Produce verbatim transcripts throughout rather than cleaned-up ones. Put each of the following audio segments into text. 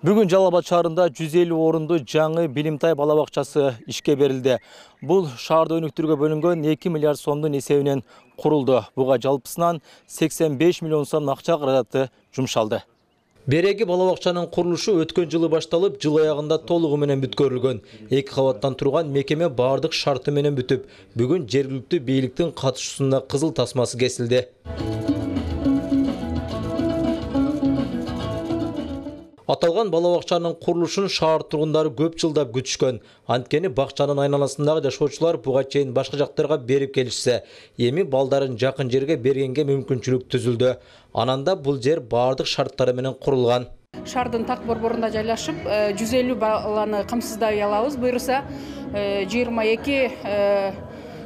Бүгүн Жалал Абад шаарында жүз элүү орунду жаңы Билимтай бала бакчасы ишке берилди. Бул шаарды өнүктүрүүгө бөлүнгөн эки миллиард сомдун эсебинен курулду. Буга жалпысынан сексен беш миллион сом акча каражаты жумшалды. Береги бала бакчанын курулушу өткөн жылы башталып, жыл аягында толугу менен бүткөрүлгөн. Эки кабаттан турган мекеме бардык шарты менен бүтүп, бүгүн жергиликтүү бийликтин катышуусунда кызыл тасмасы кесилди. Аталган бала бакчанын курулушун шаар тургундары көп жылдап күтүшкөн. Анткени бакчанын айналасындагы жашоочулар буга чейин башка жактарга берип келишсе, эми балдарын жакын жерге бергенге мүмкүнчүлүк түзүлдү. Ананда бул жер бардык шарттары менен курулган. Шаардын так борборунда жайлашып, жүз элүү баланы камсыздай алабыз. Буюрса жыйырма эки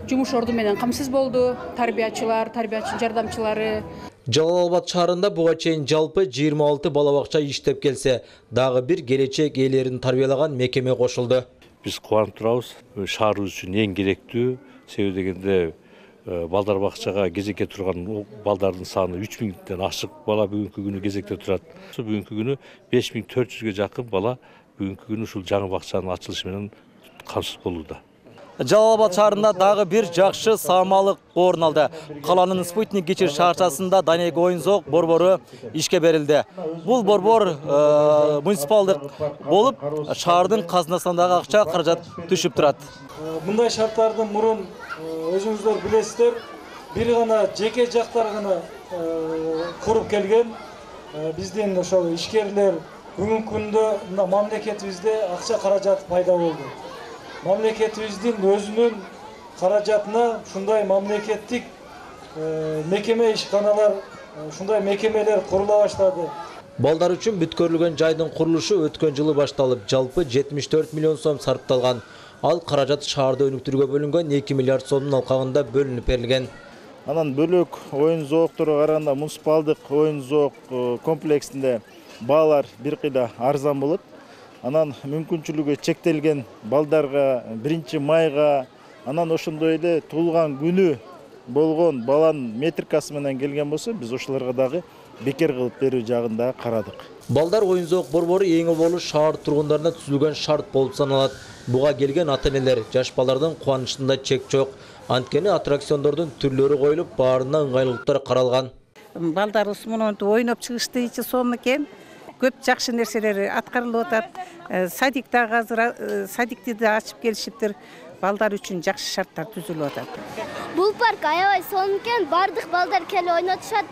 жумуш орду менен камсыз болду. Тарбиячылар, тарбиячы жардамчылары. Жалал Абад шаарында буга чейин жалпы жыйырма алты бала бакча иштеп келсе, дагы бир келечек ээлерин тарбиялаган мекеме кошулду. Биз кубанып турабыз. Шаарыбыз үчүн эң керектүү. Себеби дегенде балдар бакчага кезекке турган балдардын саны үч миңден ашык бала бүгүнкү күнү кезекте турат. Бүгүнкү күнү беш миң төрт жүзгө жакын бала бүгүнкү күнү ушул жаңы бакчанын ачылышы менен камсыз болууда. Жалал Абад шаарында дагы бир жакшы саамалык орун алды. Каланын Спутник кечир шаарчасында Данег оюн-зоок борбору ишке берилди. Бул борбор муниципалдык болуп, шаардын казынасынан дагы акча каражат түшүп турат. Мындай шарттардын мурун өзүңүздөр билесиздер, бир гана жеке жактар гана куруп келген. Биздин ошол ишкерлер бүгүнкү күндө мамлекетибизде акча каражаты пайда болду. Мамлекетибиздин өзүнүн каражатына ушундай мамлекеттик мекеме ишканалар, ушундай мекемелер курула баштады. Балдар үчүн бүткөрүлгөн жайдын курулушу өткөн жылы башталып, жалпы жетимиш төрт миллион сом сарпталган. Ал каражат шаарды өнүктүрүүгө бөлүнгөн эки миллиард сомдун алкагында бөлүнүп берилген. Анан бөлөк оюн-зоокторго караганда муниципалдык оюн-зоок комплексинде баалар бир кыйда арзан болот. Анан мүмкүнчүлүгү чектелген балдарга биринчи майга, анан ошондой эле туулган күнү болгон баланын метрикасы менен келген болсо, биз ошолорго дагы бекер кылып берүү жагында карадык. Балдар оюн-зоок борбору эң болу шаар тургундарына түзүлгөн шарт болуп саналат. Буга келген ата-энелер жаш балдардын кубанычында чек жок. Анткени аттракциондордун түрлөрү коюлуп, баарына ыңгайлуулуктар каралган. Балдарыбыз мунун ойноп чыгышты ичи сом экен. Көп жакшы нерселер аткарылып атат. Садиктагы азыр садикти да ачып келишиптир. Балдар үчүн жакшы шарттар түзүлүп атат. Бул парк аябай сонун экен, бардык балдар келип ойнотушат.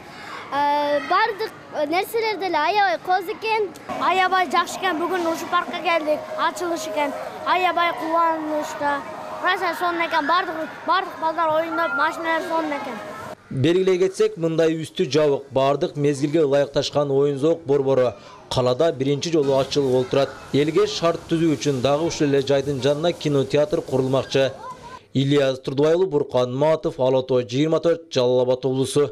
Бардык нерселер деле аябай коз экен. Аябай жакшы экен. Бүгүн ушул паркка келдик, ачылыш экен. Аябай кубанычта. Раса сонун экен. Бардык бардык балдар ойноп, машиналар сонун экен. Белгилей кетсек, мындай үстү жабык, бардык мезгилге ылайыкташкан оюн-зоок борбору калада биринчи жолу ачылып олтурат. Элге шарт түзүү үчүн дагы ушул эле жайдын жанына кинотеатр курулмакчы. Ильяс Турдубайұлы, Буркан Матов, Ала Тоо жыйырма төрт, Жалал Абад облусу.